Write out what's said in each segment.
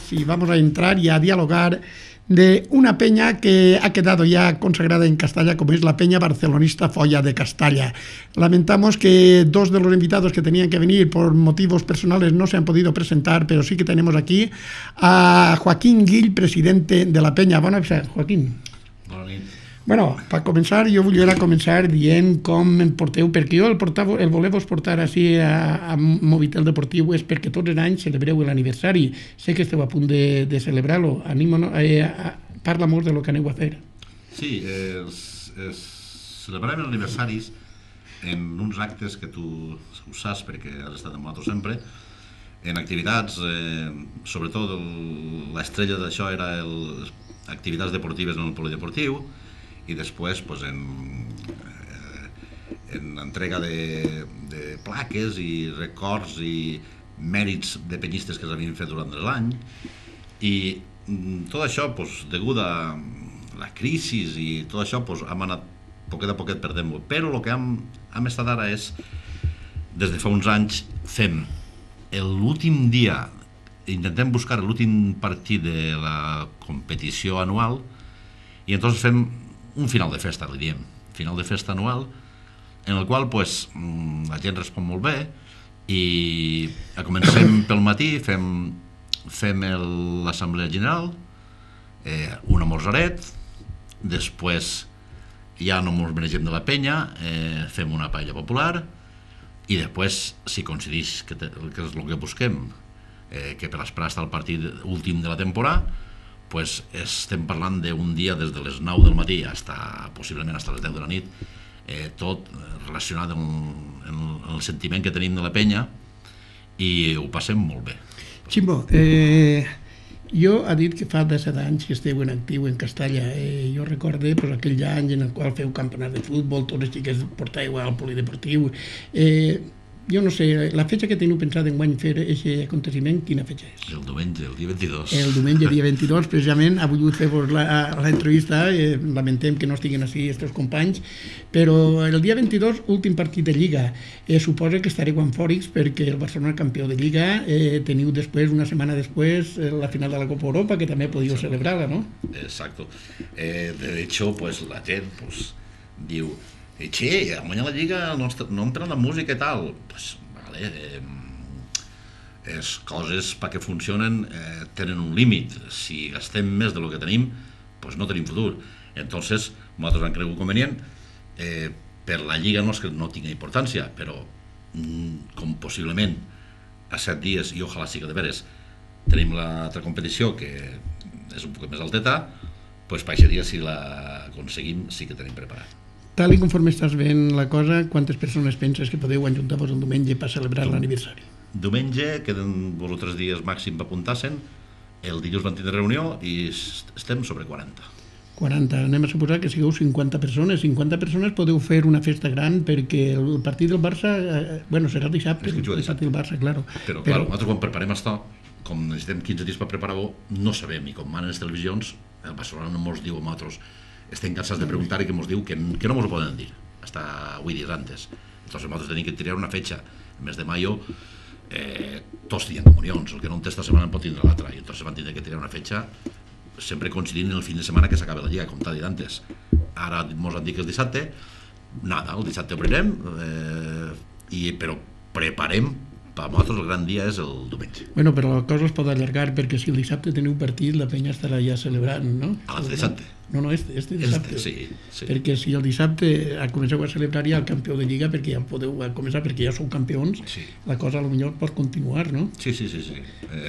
pues y vamos a entrar y a dialogar de una peña que ha quedado ya consagrada en Castalla, como es la Peña Barcelonista Folla de Castalla. Lamentamos que dos de los invitados que tenían que venir por motivos personales no se han podido presentar, pero sí que tenemos aquí a Joaquín Guill, presidente de la Peña. Bona nit, Joaquín. Bona nit. Bueno, per començar, jo volia començar dient com em porteu, perquè jo el voler-vos portar així a Movitel Deportiu és perquè tots els anys celebreu l'aniversari. Sé que esteu a punt de celebrar-lo. Parla-nos de lo que aneu a fer. Sí, celebrarem els aniversaris en uns actes que tu ho saps perquè has estat amb nosaltres sempre, en activitats, sobretot l'estrella d'això era activitats deportives en el polideportiu, i després en entrega de plaques i records i mèrits de penyistes que s'havien fet durant l'any, i tot això, degut a la crisi i tot això, hem anat poquet a poquet perdent-ho, però el que hem estat ara és, des de fa uns anys, fem l'últim dia, intentem buscar l'últim partit de la competició anual, i entonces fem un final de festa, li diem, final de festa anual, en el qual la gent respon molt bé, i comencem pel matí, fem l'assemblea general, un amorzaret, després ja no ens menegem de la penya, fem una paella popular, i després, si coincideix que és el que busquem, que per esperar estar al partit últim de la temporada, estem parlant d'un dia des de les 9 del matí possiblement fins a les 10 de la nit, tot relacionat amb el sentiment que tenim de la penya, i ho passem molt bé. Ximbo, jo ha dit que fa 17 anys que esteu en actiu en Castalla. Jo recorde aquell any en el qual feu campionat de futbol, tots els xiquets portàveu al polideportiu. Jo no sé, la fetge que teniu pensat enguany fer aquest aconteciment, quina fetge és? El diumenge, el dia 22. El diumenge, dia 22, precisament, ha volgut fer-vos l'entrevista, lamentem que no estiguin així els companys, però el dia 22, últim partit de Lliga, suposa que estareu eufòrics perquè el Barcelona campió de Lliga, teniu després, una setmana després, la final de la Copa Europa, que també podíeu celebrar-la, no? Exacto. De hecho, la gent diu: che, a guanyar la Lliga no entren la música i tal. Vale, les coses perquè funcionen tenen un límit. Si gastem més del que tenim, no tenim futur. Entonces, nosaltres hem cregut convenient, per la Lliga no és que no tingui importància, però com possiblement a 7 dies, i ojalà sigui de veres, tenim l'altra competició que és un poc més alteta, per aquest dia, si l'aconseguim, sí que tenim preparat. Tal i conforme estàs veient la cosa, quantes persones penses que podeu ajuntar-vos el diumenge per celebrar l'aniversari? Diumenge, queden 2 o 3 dies màxim per apuntar-se'n, el dilluns vam tindre reunió i estem sobre 40. 40, anem a suposar que sigueu 50 persones. 50 persones podeu fer una festa gran perquè el partit del Barça, serà dissabte, el partit del Barça, claro. Però nosaltres quan preparem això, com necessitem 15 dies per preparar-ho, no sabem, i com manen les televisions, el Barcelona no ens diu a nosaltres, estem cansats de preguntar i que ens diu que no ens ho poden dir, hasta 8 dies antes. Entonces nosaltres tenim que triar una fetxa. El mes de mayo tots tenen comunions, el que no en té esta setmana en pot tindre l'altra, i entonces van tindre que triar una fetxa sempre coincidint en el fin de setmana que s'acaba la Lliga, com t'ha dit antes. Ara ens han dit que és dissabte, el dissabte obrirem, però preparem. Per nosaltres el gran dia és el diumenge. Bueno, però la cosa es pot allargar perquè si el dissabte teniu partit, la penya estarà ja celebrant, no? L'altre dissabte. No, este dissabte. Sí. Perquè si el dissabte comenceu a celebrar ja el campió de Lliga, perquè ja podeu començar, perquè ja sou campions, la cosa potser pot continuar, no? Sí.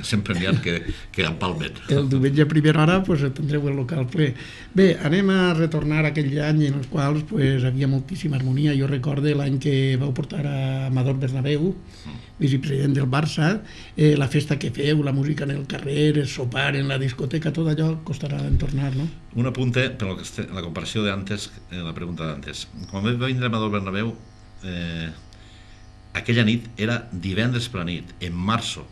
Sempre n'hi ha que empalmen. El diumenge a primera hora tindreu el local ple. Bé, anem a retornar a aquell any en els quals havia moltíssima harmonia. Jo recorde l'any que vau portar a Amador Bernabéu, vicepresident del Barça, la festa que feu, la música en el carrer, el sopar en la discoteca, tot allò costarà en tornar, no? Un apunte, per la comparació d'antes, la pregunta d'antes. Quan va vindre Amador Bernabéu, aquella nit era divendres per la nit, en marzo,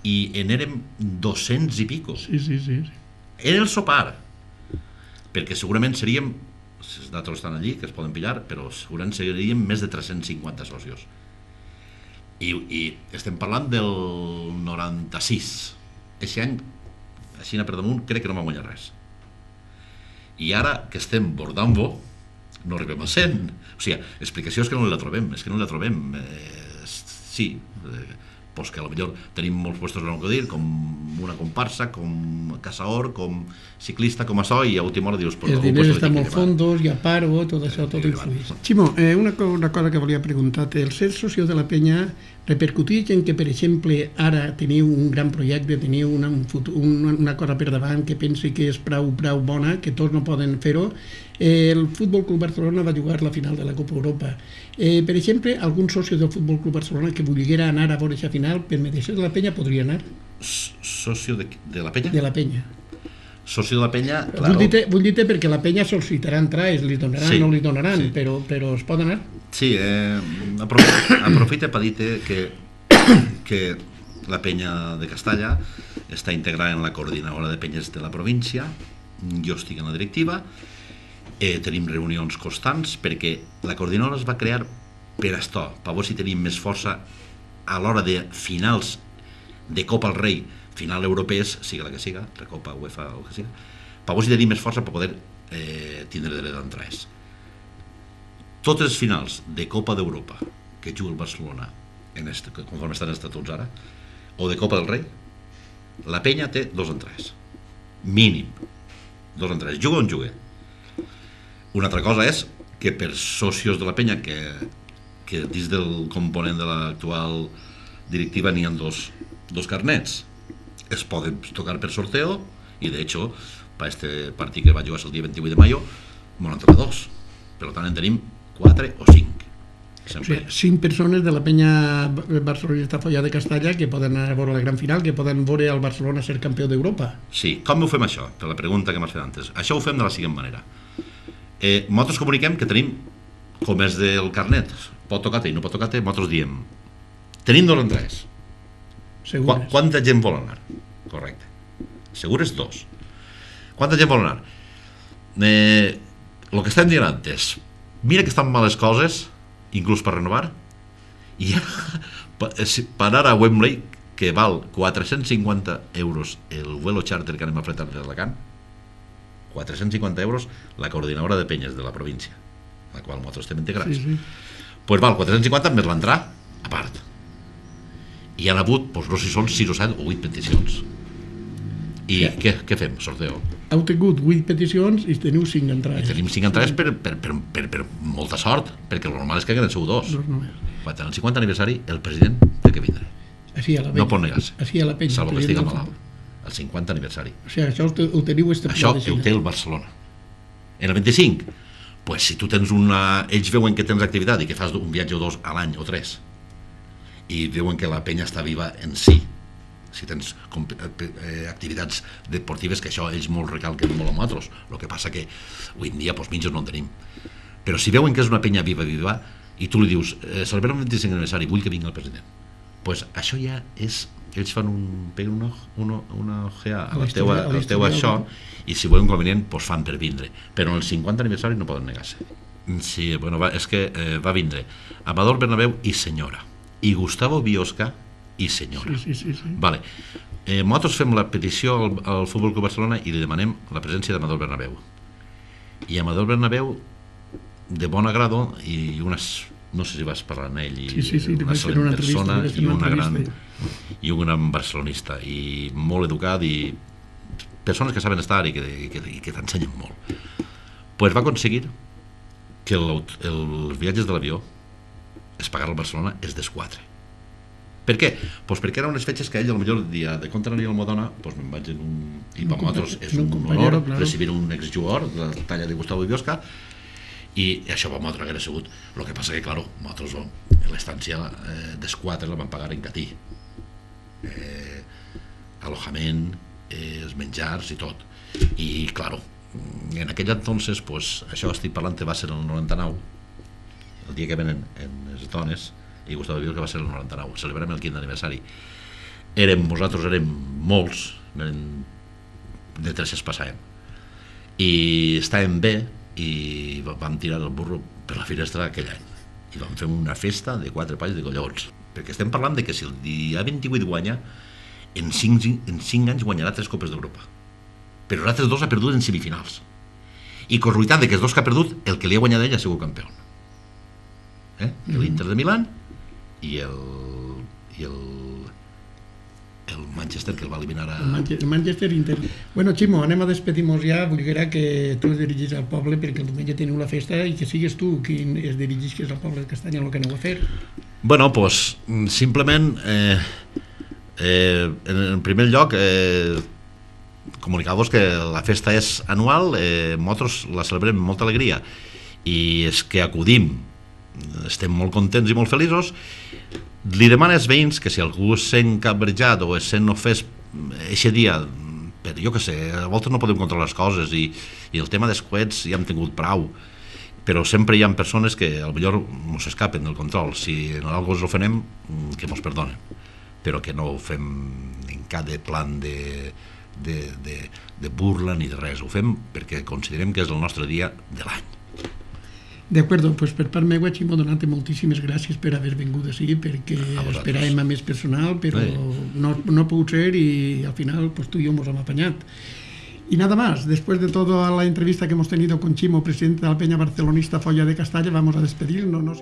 i en érem 200 i pico. Sí. Era el sopar, perquè segurament seríem, els datos estan allí, que es poden pillar, però segurament seríem més de 350 socios. I estem parlant del 96. Aquest any així per damunt, crec que no vam guanyar res. I ara que estem bordant-ho, no arribem a 100. O sigui, l'explicació és que no la trobem, sí, pues que potser tenim molts puestos en el que dir, com una comparsa, com caçador, com ciclista, com això, i a última hora dius... Els diners estan molt fondos, hi ha paro, tot això, tot influeix. Ximo, una cosa que volia preguntar-te, el ser socio de la penya repercuteix en que, per exemple, ara teniu un gran projecte, teniu una cosa per davant que pensi que és prou bona, que tots no poden fer-ho. El Futbol Club Barcelona va jugar la final de la Copa Europa. Per exemple, algun soci del Futbol Club Barcelona que volguera anar a veure aquesta final per mediació de la penya podria anar? Socio de la penya? De la penya. Soci de la penya, claro. Vull dir-te perquè la penya sol·licitarà entrades, li donaran o no li donaran, però es pot anar? Sí, aprofita per dir-te que la penya de Castalla està integrada en la coordinadora de penyes de la província, jo estic en la directiva, tenim reunions constants perquè la coordinadora es va crear per això, per veure si tenim més força a l'hora de finals de Copa al Rei, final europees, siga la que siga, Recopa, UEFA o que siga, per veure si tenim més força per poder tindre dret d'entrades. Totes les finals de Copa d'Europa que juga el Barcelona, conforme estan els estatuts ara, o de Copa del Rei, la penya té 2 entrades. Mínim. 2 entrades. Juga on juga. Una altra cosa és que per socios de la penya, que dins del component de l'actual directiva n'hi ha dos carnets. Es poden tocar per sorteo i, de hecho, per este partit que va jugar el dia 28 de mayo, m'ho han tocat 2. Per tant, en tenim 4 o 5. O sigui, 5 persones de la penya barcelonista Folla de Castalla que poden anar a veure la gran final, que poden veure el Barcelona ser campió d'Europa. Sí, com ho fem això? Per la pregunta que m'has fet antes. Això ho fem de la següent manera. Nosaltres comuniquem que tenim, com és del carnet, pot tocar-te i no pot tocar-te, nosaltres diem, tenim 2 entrades. Segures. Quanta gent vol anar? Correcte. Segures 2. Quanta gent vol anar? El que estem dient antes, mira que estan males coses, inclús per renovar, i per anar a Wembley, que val 450 euros el vuelo charter que anem a fretar des d'Alacant, 450 euros la coordinadora de penyes de la província, la qual nosaltres estem integrats. Pues val 450 més l'entrar a part. I han hagut, no sé si són 6 o 7 o 8 peticions. I què fem? Sorteo. Heu tingut 8 peticions i teniu 5 entrades. I tenim 5 entrades per molta sort, perquè el normal és que hagueren sigut 2. Quan el 50 aniversari, el president té que vindre. No pot negar-se. Salvo que estigui malalt. El 50 aniversari. O sigui, això ho teniu establert. Això ho té el Barcelona. En el 25, pues si tu tens ells veuen que tens activitat i que fas un viatge o 2 a l'any o 3 i veuen que la penya està viva en si tens activitats deportives, que això ells molt recalquen molt amb nosaltres, el que passa que avui en dia mitjos no en tenim, però si veuen que és una penya viva i tu li dius celebrem el 25 aniversari, vull que vingui el president, pues això ja és, ells fan peguen una ojeada a la teua això, i si volen convenient fan per vindre, però en el 50 aniversari no poden negar-se. Sí, és que va vindre Amador Bernabéu i senyora, i Gustavo Biosca i senyora. Vale. Nosaltres fem la petició al Futbol Club Barcelona i li demanem la presència d'Amador Bernabéu. I Amador Bernabéu, de bon agrado, i no sé si vas parlar amb ell, una excel·lent persona i un gran barcelonista, i molt educat, i persones que saben estar i que t'ensenyen molt. Pues va aconseguir que els viatges de l'avió es pagar al Barcelona es desquatre. Per què? Pues perquè eren unes fetges que ell, potser el dia de compte anaria al Modona, me'n vaig en un... I per nosaltres és un honor recibir un exjugador de la talla de Gustavo Biosca, i això per nosaltres hauria sigut. El que passa que, clar, nosaltres l'estància d'esquatre la vam pagar en catí. Alojament, els menjars i tot. I, clar, en aquell entonces, això estic parlant que va ser el 99, el dia que venen les dones, i Gustavo Biosca va ser el 99, celebrem el 15 aniversari. Nosaltres érem molts, de 300 passàvem, i estàvem bé, i vam tirar el burro per la finestra aquell any, i vam fer una festa de 4 palls de collons, perquè estem parlant de que si el dia 28 guanya, en 5 anys guanyarà 3 Copes d'Europa. però els altres dos ha perdut en semifinals. I casualitat que els dos que ha perdut, el que li ha guanyat ell ha sigut campió. L'Inter de Milán i el Manchester, que el va eliminar el Manchester Inter. Bueno, Ximo, anem a despedir-nos ja. Volguera que tu es dirigis al poble, perquè el diumenge teniu la festa, i que sigues tu qui es dirigis al poble de Castanya, el que aneu a fer. Bueno, pues simplement en primer lloc comunicar-vos que la festa és anual, nosaltres la celebrem amb molta alegria i és que acudim, estem molt contents i molt feliços. Li demana als veïns que si algú es sent cabretjat o es sent ofès eixe dia, per jo que sé, a voltes no podem controlar les coses i el tema dels coets ja hem tingut prou, però sempre hi ha persones que potser no s'escapen del control. Si en algú els ofenem, que mos perdonen, però que no ho fem en cap plan de burla ni de res. Ho fem perquè considerem que és el nostre dia de l'any. D'acord, doncs per part meva, Ximo, donar-te moltíssimes gràcies per haver vingut així, perquè esperàvem a més personal, però no ha pogut ser i al final tu i jo ens hem apanyat. Y nada más, después de toda la entrevista que hemos tenido con Ximo, presidente de la Peña Barcelonista Folla de Castalla, vamos a despedirnos, ¿no?